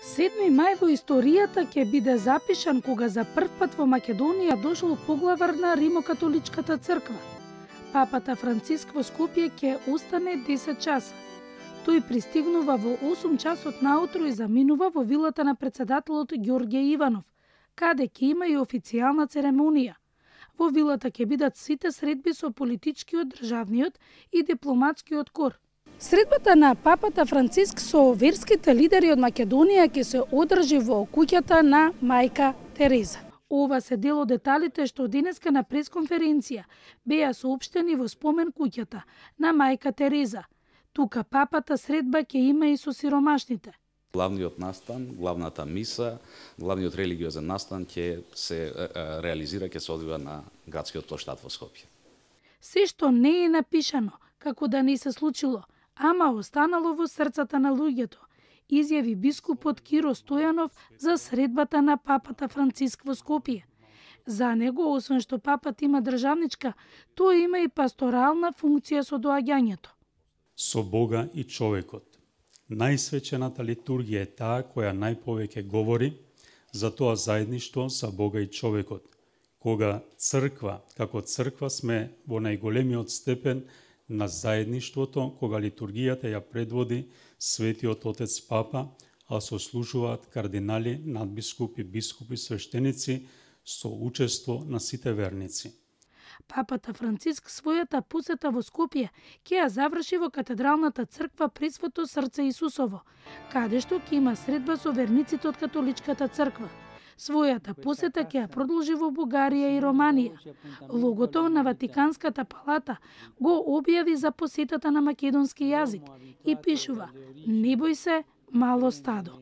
7 мај во историјата ќе биде запишан кога за прв пат во Македонија дошол поглавар на Римокатоличката црква. Папата Франциск во Скопје ќе остане 10 часа. Тој пристигнува во 8 часот наутро и заминува во вилата на председателот Ѓорѓе Иванов, каде ќе има и официјална церемонија. Во вилата ќе бидат сите средби со политичкиот, државниот и дипломатскиот кор. Средбата на папата Франциск со верските лидери од Македонија ќе се одржи во куќата на мајка Тереза. Ова се дел од деталите што денеска на пресконференција беа соопштени во спомен куќата на мајка Тереза. Тука папата средба ќе има и со сиромашните. Главниот настан, главната миса, главниот религиозен настан ќе се реализира, ќе се одвива на градскиот плоштад во Скопје. Се што не е напишано, како да не се случило, ама останало во срцата на луѓето, изјави бискупот Киро Стојанов за средбата на папата Франциск во Скопје. За него, освен што папат има државничка, тој има и пасторална функција со доаѓањето. Со Бога и човекот. Најсвечената литургија е таа која најповеќе говори за тоа заедништво со Бога и човекот. Кога црква, како црква сме во најголемиот степен на заедништвото, кога литургијата ја предводи Светиот Отец Папа, а сослужуваат кардинали, надбискупи, бискупи, свештеници со учество на сите верници. Папата Франциск својата посета во Скопје ќе ја заврши во катедралната црква Пресвето срце Исусово, каде што ќе има средба со верниците од католичката црква. Својата посета ќе ја продолжи во Бугарија и Романија. Логото на Ватиканската палата го објави за посетата на македонски јазик и пишува: "Не бој се, мало стадо".